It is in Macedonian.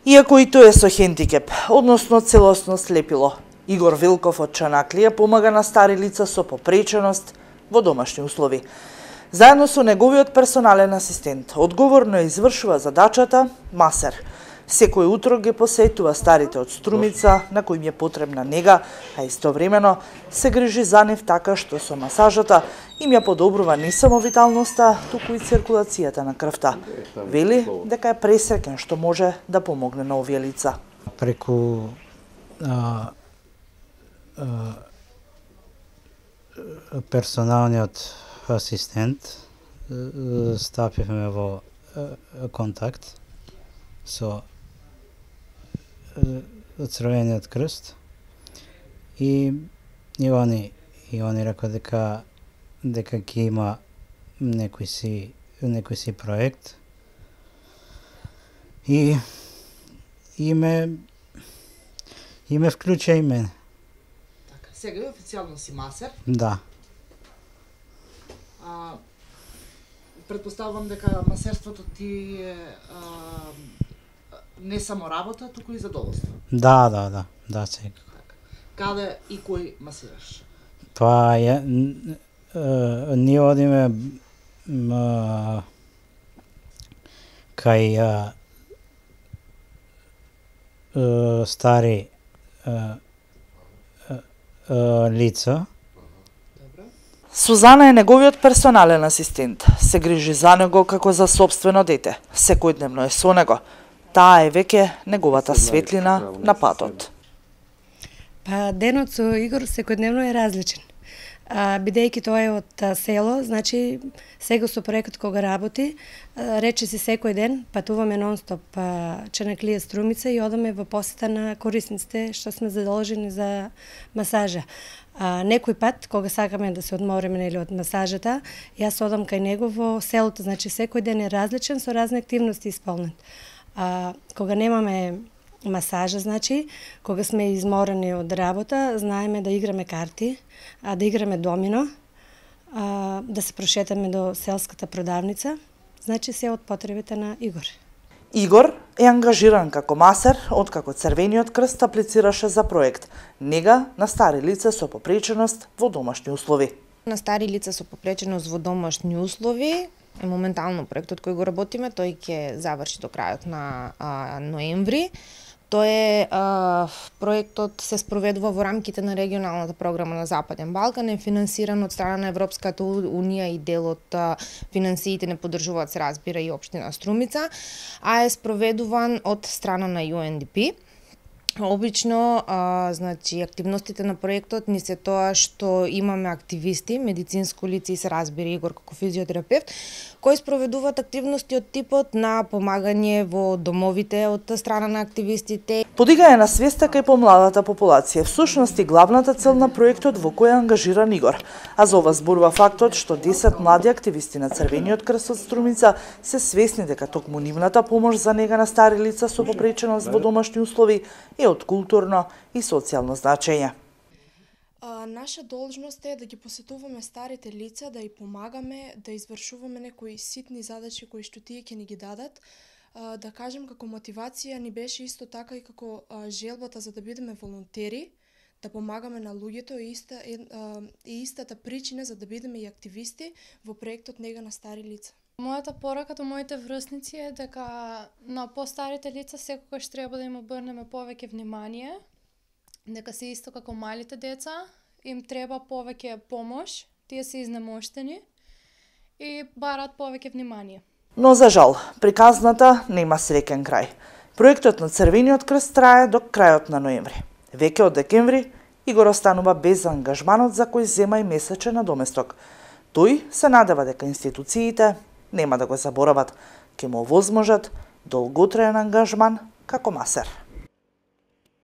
Иако и тој е со хендикеп, односно целосно слепило, Игор Вилков од Чанаклија помага на стари лица со попреченост во домашни услови. Заедно со неговиот персонален асистент, одговорно извршува задачата масер. Секој утро ги посетува старите од Струмица, на кои им е потребна нега, а истовремено се грижи за нив така што со масажата им ја подобрува не само виталноста, туку и циркулацијата на крвта. Вели дека е пресреќен што може да помогне на овие лица. Преку персоналниот асистент стапивме во контакт со Црвениот крст и они рекоа дека ќе има некој си проект и ме вклучи и мене. Така, сега официјално си масер? Да. Предпоставувам дека масерството ти е не само работа, туку и задоволство. Да, секако. Каде и кој масираш? Па ние одиме кај стари лица. Сузана е неговиот персонален асистент. Се грижи за него како за сопствено дете. Секојдневно е со него. Таа е веќе неговата светлина на патот. Па денот со Игор секојдневно е различен. Бидејќи тоа е од село, значи сега со проектот кога работи, рече си секој ден патуваме нон-стоп Чанаклија Струмица и одаме во посета на корисниците што сме задолжени за масажа. Некој пат, кога сакаме да се одмориме од масажата, јас одам кај него во селото, значи секој ден е различен со разни активности исполнет. Кога немаме масажа, значи, кога сме изморени од работа, знаеме да играме карти, да играме домино, да се прошетаме до селската продавница, значи се од потребите на Игор. Игор е ангажиран како масер, откако Црвениот крст аплицираше за проект нега на стари лица со попреченост во домашни услови. На стари лица со попреченост во домашни услови е моментално проектот кој го работиме, тој ќе заврши до крајот на ноември. Проектот се спроведува во рамките на регионалната програма на Западен Балкан, е финансиран од страна на Европската унија и дел од финансиите не поддржуваат, се разбира, и општина Струмица, а е спроведуван од страна на UNDP. Обично, значи, активностите на проектот ни се тоа што имаме активисти, медицинско лице и се разбира Игор како физиотерапевт, кои спроведуваат активности од типот на помагање во домовите од страна на активистите. Подигање на свеста кај помладата популација, всушност и главната цел на проектот во кој е ангажиран Игор. А за ова зборува фактот што 10 млади активисти на Црвениот крст од Струмица се свесни дека токму нивната помош за нега на стари лица со попреченост во домашни услови е од културно и социјално значење. Наша должност е да ги посетуваме старите лица, да ја помагаме, да извршуваме некои ситни задачи кои што тие ќе ни ги дадат. Да кажем, како мотивација ни беше исто така и како желбата за да бидеме волонтери, да помагаме на луѓето и истата причина за да бидеме и активисти во проектот нега на стари лица. Мојата порака до моите врсници е дека на постарите лица секогаш треба да им обрнеме повеќе внимание, дека се исто како малите деца, им треба повеќе помош, тие се изнемоштени и барат повеќе внимание. Но за жал, приказната нема среќен крај. Проектот на Црвениот крст трае до крајот на ноември. Веќе од декември Игор останува без ангажманот за кој зема и месечен надоместок. Тој се надева дека институциите нема да го заборават, ќе му овозможат долготраен ангажман како масер.